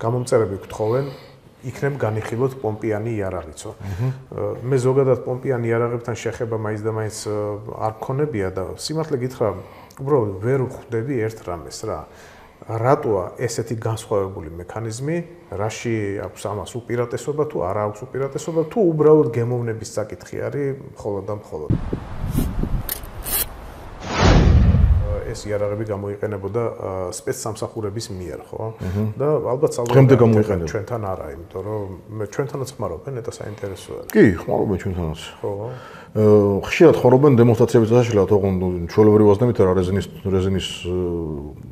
გამომწერები გთხოვენ იქნებ განიხილოთ პომპიანი იარაღიცო. მე ზოგადად პომპიანი იარაღებთან შეხება მაინც და მაინც არ მქონებია და სიმართლე გითხრა, უბრალოდ ვერ ვხვდები ერთ რამეს რა. რატოა ესეთი განსხვავებული მექანიზმი, რაში აქვს ამას უპირატესობა თუ არა აქვს უპირატესობა, თუ უბრალოდ გემოვნების საკითხი არის მხოლოდ და მხოლოდ. ეს იარაღები გამოიყენებოდა სპეცსამსახურების მიერ, ხო? და ალბათ გამოიყენებოდა ჩვენთან არა, იმიტომ რომ ჩვენთანაც ხმარობენ, ნეტა საინტერესო არის. კი, ხმარობენ ჩვენთანაც. ხო. ხშირად ხმარობენ დემონსტრაციების წაშლად, ოღონდ ჩვეულებრივ აზნებით არა რეზინის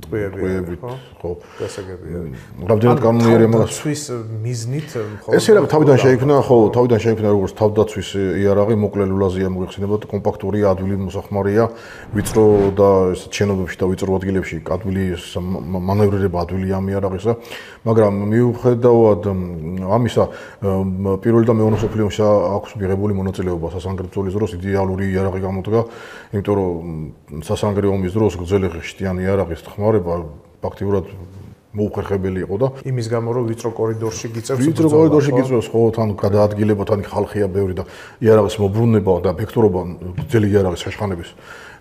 ტყვიებით, ხო? გასაგებია. რამდენად განმეორე მაგას თავდაცვის მიზნით მხოლოდ ეს იარაღი თავიდან შეიქმნა, ხო, თავიდან შეიქმნა როგორც თავდაცვის იარაღი, მოკლე ლულაზეა მოიხსენებოდა, კომპაქტურია, ადვილი მოსახმარია, ვიწრო და ეს შენობებში და ვიწრო ადგილებში ადვილი მანევრირება ადვილია ამ იარაღისა, მაგრამ მიუხედავად ამისა, პირველი და მეორე მსოფლიო ომში აქვს მიღებული მონაწილეობა სასანგრდწოლის დროს იდეალური იარაღი გამოდგა, იმიტომ რომ სასანგრდო ომის დროს გრძელი ხიშტიანი იარაღის ხმარება ფაქტიურად მოუხერხებელი იყო და იმის გამო რომ ვიწრო კორიდორში გიწევს ვიწრო კორიდორში გიწევს ხო თან გადაადგილება თან ხალხია ბევრი და იარაღის მოbrunება და ფექტურობა გრძელი იარაღის შეშხანების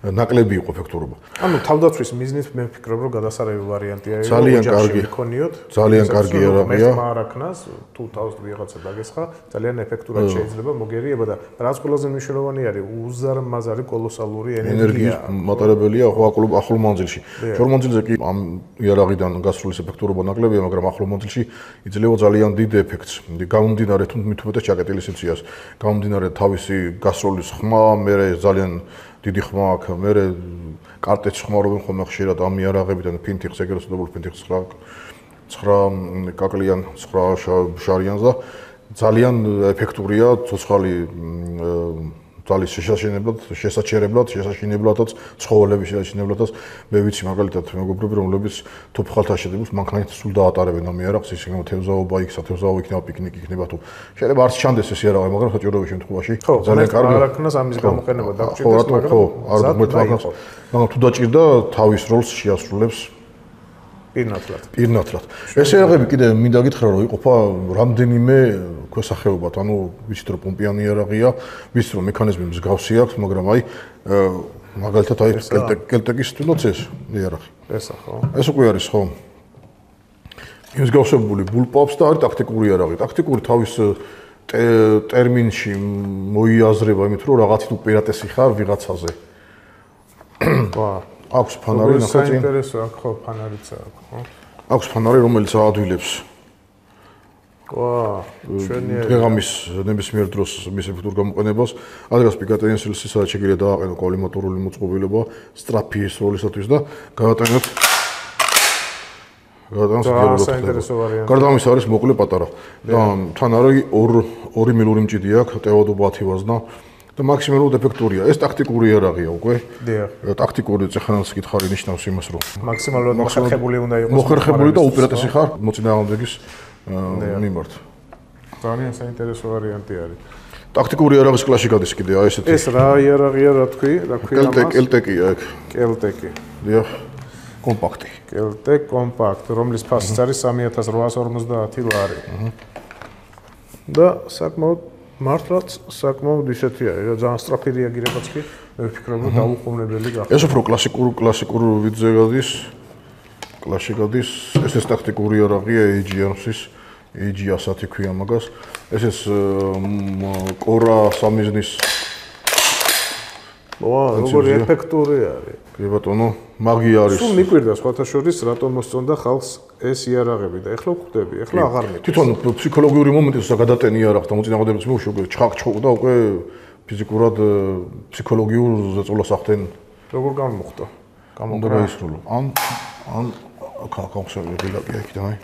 ნაკლები იყო ფექტურობა. ანუ თავდაცვის მიზნით მე ვფიქრობ რომ გადასარევი ვარიანტია იყო ძალიან კარგი იქონიოთ. ძალიან კარგი იარაღია. მე მარაკნას თუ თავს ვიღაცა დაგესხა ძალიან ეფექტურად შეიძლება მოგერიება და რაც ყველაზე მნიშვნელოვანი არის უზარმაზარი კოლოსალური ენერგია მატარებელია ახლო მანძილში. შორ მანძილზე კი ამ იარაღიდან გასროლის ეფექტურობა ნაკლებია, მაგრამ ახლო მანძილში იძლევა ძალიან დიდ ეფექტს. გამომდინარე თუ მithumetes ჩაკეტილი სიციას, გამომდინარე თავისი გასროლის ხმა, მე ძალიან დიდი ხმა აქვს, მე კარტეჩს ხმარობენ ხოლმე ხშირად ამ იარაღებიდან ფინთიხს, ეგრეთ წოდებული ფინთიხს 9 კაკლიან 9 შარიანს და ძალიან ეფექტურია ცოცხალი ძალის შესაჩერებლადაც ცხოველების შესაჩერებლადაც მე ვიცი მაგალითად მეგობრები რომლებიც თოფხალთა შედებულს მანქანით სულ დაატარებენ ამ იარაღს ის იქნება თევზაობა იქნება პიკნიკი იქნება თუ შეიძლება არც ჩანდეს ეს იარაღი მაგრამ საჭიროების შემთხვევაში ძალიან კარგი არაქნას ამის გამოყენება დაგჭირდეს მაგრამ თუ დაჭირდა თავის როლს შეასრულებს პირნათლად. ეს იარაღები კიდე მინდა გითხრა რომ იყოფა რამდენიმე ქვესახეობად, ანუ ვიცით რომ პომპიანი იარაღია, ვიცით რომ მექანიზმი მსგავსი აქვს, მაგრამ აი მაგალითად აი კელტეკის თუნდაც ეს იარაღი. ესა ხო? ეს უკვე არის ხო? მსგავსებული ბულპავს და არის ტაქტიკური იარაღი. ტაქტიკური თავის ტერმინში მოიაზრება იმით რომ რაღაცით უპირატესი ხარ ვიღაცაზე. აქვს ფანარი ნახეთ წინ. საინტერესო აქვს ხო ფანარიც აქვს ხო? აქვს ფანარი რომელიც აადვილებს. ჩვენი დღეღამის ნებისმიერ დროს მის ეფექტურ გამოყენებას, ადრეს პიკატენსილსი სადაც შეიძლება დააყენო კოლიმატორული მოწყობილობა სტრაფის როლისათვის და გადატანოთ საინტერესო ვარიანტი. გარდა ამისა არის მოკლე პატარა და თან არის 2 მილური მჭიდი აქვს, ტეოდობა 10 ვაზნა და მაქსიმალურად ეფექტურია. ეს ტაქტიკური იარაღია უკვე. ტაქტიკური წეხანაც კითხარი ნიშნავს იმას, რომ მაქსიმალურად მოხერხებული უნდა იყოს. მოხერხებული და უპირატესი ხარ მოწინააღმდეგის მიმართ. ძალიან საინტერესო ვარიანტი არის. ტაქტიკური იარაღის კლასში გადის კიდე აი ესეთი. ეს რა იარაღია, რა თქვი ამას? კელტეკია ეგ. კელტეკი. დიახ. კომპაქტი. კელტეკ კომპაქტ, რომლის ფასიც არის 3850 ლარი. და საკმაოდ მართლაც საკმაოდ ისეთი არის, რა ძალიან სწრაფი რეაგირებაც კი მე ვფიქრობ, რომ დაუყოვნებელი გახდა. ეს უფრო კლასიკურ ვიდზე გადის. კლასში გადის. ეს ტაქტიკური იარაღია AG-ს, AG-100 ქვია მაგას. ეს კორა სამიზნის როგორი ეფექტური არის. კი ბატონო, მაგია არის. სულ მიკვირდა სხვათა შორის რატომ მოსწონდა ხალხს ეს იარაღები და ეხლა ვხვდები, ეხლა აღარ მეტყვი. თვითონ ფსიქოლოგიური მომენტი როცა გადატენი იარაღს და მოწინააღმდეგებს მოუშვებ, ჩხაკ-ჩხუკ და უკვე ფიზიკურად ფსიქოლოგიურ ზეწოლას ახდენ. როგორ გამოხდა? უნდა გაისრულო. ან კახავსები გილაკი იქიდან აი.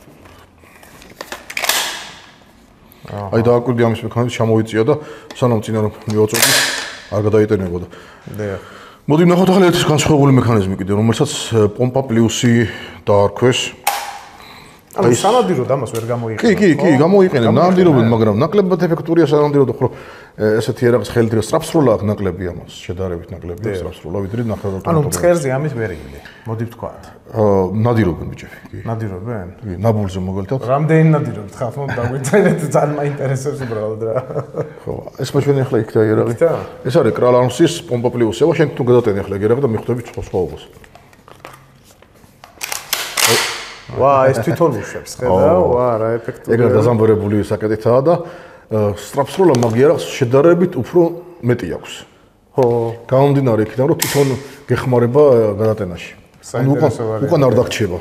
აი დააკვირდი ამის მექანიზმი ჩამოიწია და სანამ წინა რომ მივაწოდე არ გადაიტენებოდა. დიახ. მოდი ნახოთ ახლა ერთი განსხვავებული მექანიზმი კიდე, რომელსაც პომპა პლუსი დაარქვეს. ანუ სანადიროდ ამას ვერ გამოიყენებთ. კი, გამოიყენებ, ნამდვილად, მაგრამ ნაკლებად ეფექტურია სანადიროდ, ხო, ესეთი იარაღის ხელით სწრაფსროლა აქვს ნაკლები ამას, შედარებით ნაკლები სწრაფსროლა, ვიდრე ნახევარდღე. ანუ მწყერზე ამის ვერ იგდე. მოდი ვთქვათ. ნადირობენ ბიჭები, კი. ნადირობენ? კი, ნაბულზე მოგელთათ. რამდენი ნადირობთ ხალხ მომ დაგვიწერეთ, ძალიან მაინტერესებს უბრალოდ რა. ხო, ეს მაჩვენე ახლა იქ და იარაღი. ეს არის კრალანსის პომპა პლიუსევა, შენ თუ გადატენე ახლა იარაღი და მიხვდები სხვაობას. ვა, ეს თვითონ უშვებს, ხედავ? ვა, რა ეფექტურია. ეგრე დაზამბერებული საკეთითაა და სწრაფსროლა მაგიარაღს შედარებით უფრო მეტი აქვს. ხო. გამომდინარე იქიდან, რომ თვითონ გეხმარება გადატენაში. უკან არ დაგრჩება.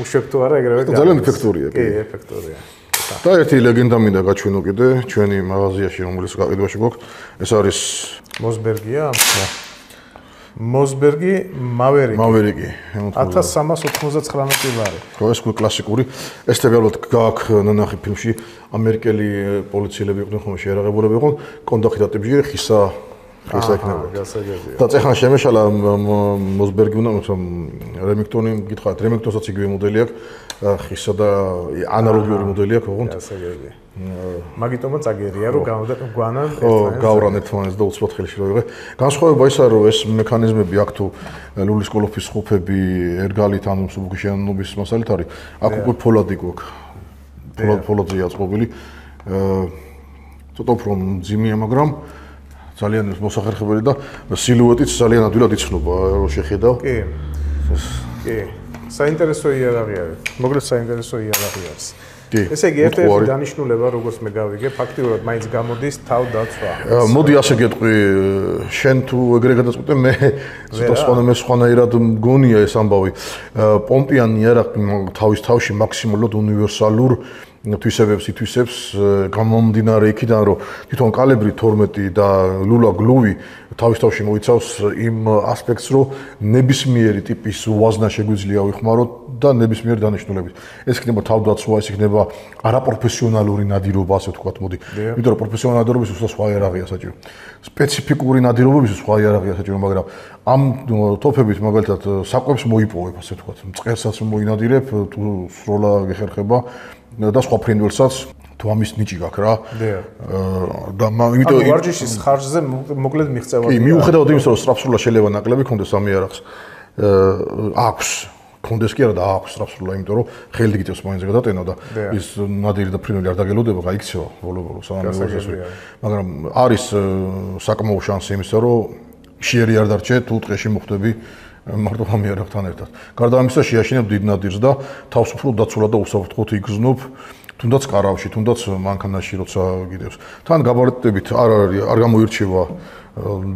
უშვებ თუ არა ეგრევე გაიგე. ძალიან ეფექტურია. კი, ეფექტურია. და ერთი ლეგენდა მინდა გაჩვენო კიდე ჩვენი მაღაზიაში, რომელიც გაყიდვაში გვაქვს. ეს არის მოსბერგია? მოსბერგი მავერიკი 1399 ლარი. ხო, ეს კლასიკური. ეს თებერვალად გააქვს ნანახი ფილმში ამერიკელი პოლიციელები იყვნენ ხოლმე შეერაღებულები იყვნენ, კონდახი დატებიჟე ხისა იქნება. გასაგებია. და წეხან შემეშალა მოსბერგი უნდა რემინგტონი გითხარით, რემინგტონსაც იგივე მოდელი აქვს, ხისა და ანალოგიური მოდელი აქვს, ოღონდ. გასაგებია. მაგიტომაც აგერია რომ გვანან გავრან ერთმანეთს და უცბად ხელში როიღე. განსხვავება ისაა რომ ეს მექანიზმები აქ თუ ლულის კოლოფის ხუფები ერგალით ანუ მსუბუქი შენობის მასალით არის. აქ უკვე ფოლადი გვაქვს. ფოლადზეა წყობილი. ცოტა უფრო მძიმეა, მაგრამ ძალიან მოსახერხებელი და სილუეტიც ძალიან ადვილად იცნობა, რო შეხედავ. კი. კი. საინტერესო იარაღი არის. მოკლედ საინტერესო იარაღი არის. ესე იგი ერთ-ერთი დანიშნულება, როგორც მე გავიგე, ფაქტიურად მაინც გამოდის თავდაცვა. მოდი ასე გეტყვი, შენ თუ ეგრე გადაწყვეტე, მე სხვანაირად მგონია ეს ამბავი. პომპიანი იარაღი თავის თავში მაქსიმალურად უნივერსალურ თვისებებს ითვისებს, გამომდინარე იქიდან, რომ თვითონ კალიბრი 12 და ლულა გლუვი თავის თავში მოიცავს იმ ასპექტს, რომ ნებისმიერი ტიპის ვაზნა შეგვიძლია ვიხმაროთ და ნებისმიერი დანიშნულებით. ეს იქნება თავდაცვა, ეს იქნება არაპროფესიონალური ნადირობა, ასე ვთქვათ, მოდი. იმიტომ რომ პროფესიონალური ნადირობის სხვა იარაღია საჭირო. სპეციფიკური ნადირობების სხვა იარაღია საჭირო, მაგრამ ამ ტოფებით მაგალითად საკვებს მოიპოვებ, ასე ვთქვათ. მწყერსაც მოინადირებ, თუ სროლა გეხერხება და სხვა ფრინველსაც თუ ამის ნიჭი გაქვს რა. და იმიტომ ვარჯიშის ხარჯზე მოკლედ მიღწევა. კი, მიუხედავად იმისა, რომ სწრაფსროლა შეიძლება ნაკლები ქონდეს ამ იარაღს, აქვს ქონდეს კი არა და აქვს სწრაფსროლა, იმიტომ რომ ხელი გიწევს მაინც გადატენა და ის ნადირი და ფრინველი არ დაგელოდება, გაიქცევა ბოლო-ბოლო სანამ მივასწრე. მაგრამ არის საკმაო შანსი იმისა, რომ ხშირი არ დარჩე, თუ ტყეში მოხვდები მარტო ამ იარაღთან ერთად. გარდა ამისა შეაშინებ დიდ ნადირს და თავს უფრო დაცულად და უსაფრთხოდ იგრძნობ, თუნდაც კარავში, თუნდაც მანქანაში, როცა გიდევს. თან გაბარიტებით არ გამოირჩევა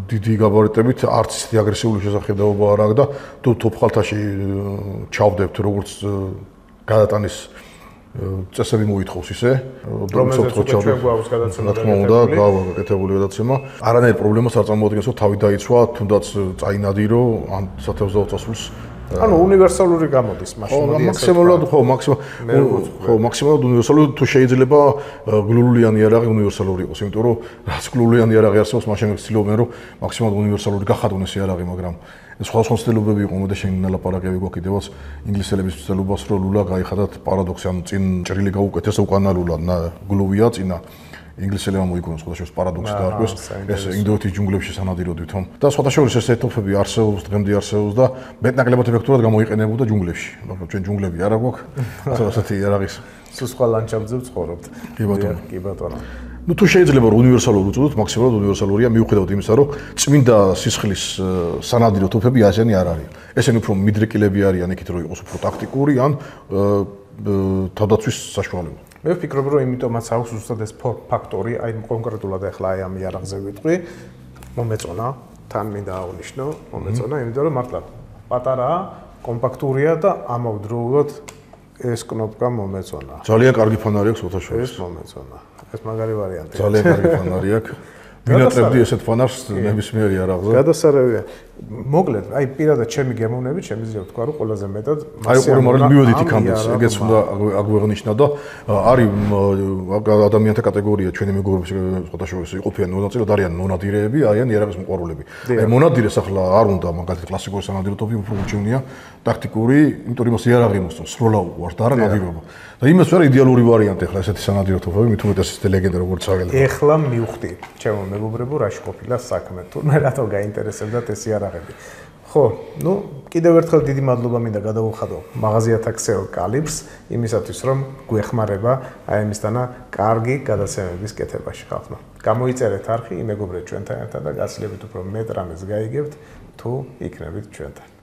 დიდი გაბარიტებით, არც ისეთი აგრესიული შესახედაობა არ აქვს და თუ თოფხალთაში ჩავდებთ, როგორც გადატანის წესები მოითხოვს ისე, რომელსაც ჩვენ გვაქვს გადაცემა და გაკეთებული გადაცემა. არანაირ პრობლემას არ წარმოადგენს, რომ თავი დაიცვა, თუნდაც წაინადირო ან სათევზაო წასულს. ანუ უნივერსალური გამოდის მაშინ. მაქსიმალურად უნივერსალური თუ შეიძლება გლულიანი იარაღი უნივერსალური იყოს, იმიტომ რომ რაც გლულიანი იარაღი არსებობს, მაშინ ცდილობენ რომ მაქსიმალურად უნივერსალური გახადონ ეს იარაღი, მაგრამ სხვა ცნობები იყო და შენ ნალაპარაკები გვაქვს კიდევაც ინგლისელების ცდილობას რომ ლულა გაიხადათ პარადოქსი, ანუ წინ ჭრილი გაუკეთეს უკანა ლულა გლუვია წინა ინგლისელებმა მოიგონეს სხვადასხვა პარადოქსი დაარქვეს ეს ინდოეთის ჯუნგლებში სანადიროდ ვითომ და სხვადასხვა ეს ეთოფები არსებობს დღემდე არსებობს და მეტნაკლებად ეფექტურად გამოიყენებოდა ჯუნგლებში მაგრამ ჩვენ ჯუნგლები არ აქვს ასეთი იარაღის სულ სხვა ლანდშაფტზე ვცხოვრობთ კი ბატონო ну თუ შეიძლება რომ უნივერსალური უწოდოთ მაქსიმალურად უნივერსალურია მიუხედავად იმისა რომ წმინდა სისხლის სანადირო თოფები ასენი არ არის ესენი უფრო მიდრეკილები არიან იქით რომ იყოს უფრო ტაქტიკური ან თავდაცვის საშუალება მე ვფიქრობ რომ იმიტომაც აქვს უბრალოდ ეს ფაქტორი აი კონკრეტულად ახლა აი ამ იარაღზე ვიტყვი მომეწონა თან მინდა აღნიშნო მომეწონა იმიტომ რომ მართლა პატარაა კომპაქტურია და ამავდროულად ეს კნოპკა მომეწონა ძალიან კარგი ფანარი აქვს ოთაშორის ეს მომეწონა ეს მაგარი ვარიანტია ძალიან კარგი ფანარი აქვს მინატრებდი ესეთ ფანარს ნებისმიერი არაღზე. გადასარევია. მოკლედ, აი პირადად ჩემი გემოვნებით შემიძლია ვთქვა, რომ ყველაზე მეტად აი ყურე მაგრამ მივედით იქამდე, ეგეც უნდა აგვეღნიშნა და არის ადამიანთა კატეგორია ჩვენი მეგობრების სხვადასხვა იყოფიან მონაწილეად არიან მონადირეები, არიან იარაღის მოყვარულები. აი მონადირეს ახლა არ უნდა მაგალითად კლასიკური სანადიროთობი უფრო უჩვენია ტაქტიკური, იმიტომ რომ იარაღი მოსწონს, სროლა უყვარს და არა ნადირობა. და იმას ვარ იდეალური ვარიანტი ახლა ესეთი სანადიროთობები, მით უმეტეს ეს ლეგენდა როგორც აღელა. ეხლა მივხვდი, ჩემო მეგობრებო, რაში ყოფილა საქმე, თურმე რატო გაინტერესებდათ ეს იარაღები. ხო, ნუ კიდევ ერთხელ დიდი მადლობა მინდა გადავუხადო მაღაზიათა ქსელ კალიბრს იმისათვის რომ გვეხმარება აი ამისთანა კარგი გადაცემების კეთებაში ხალხმა. გამოიწერეთ არხი, იმეგობრეთ ჩვენთან ერთად და გაცილებით უფრო მეტ რამეს გაიგებთ თუ იქნებით ჩვენთან.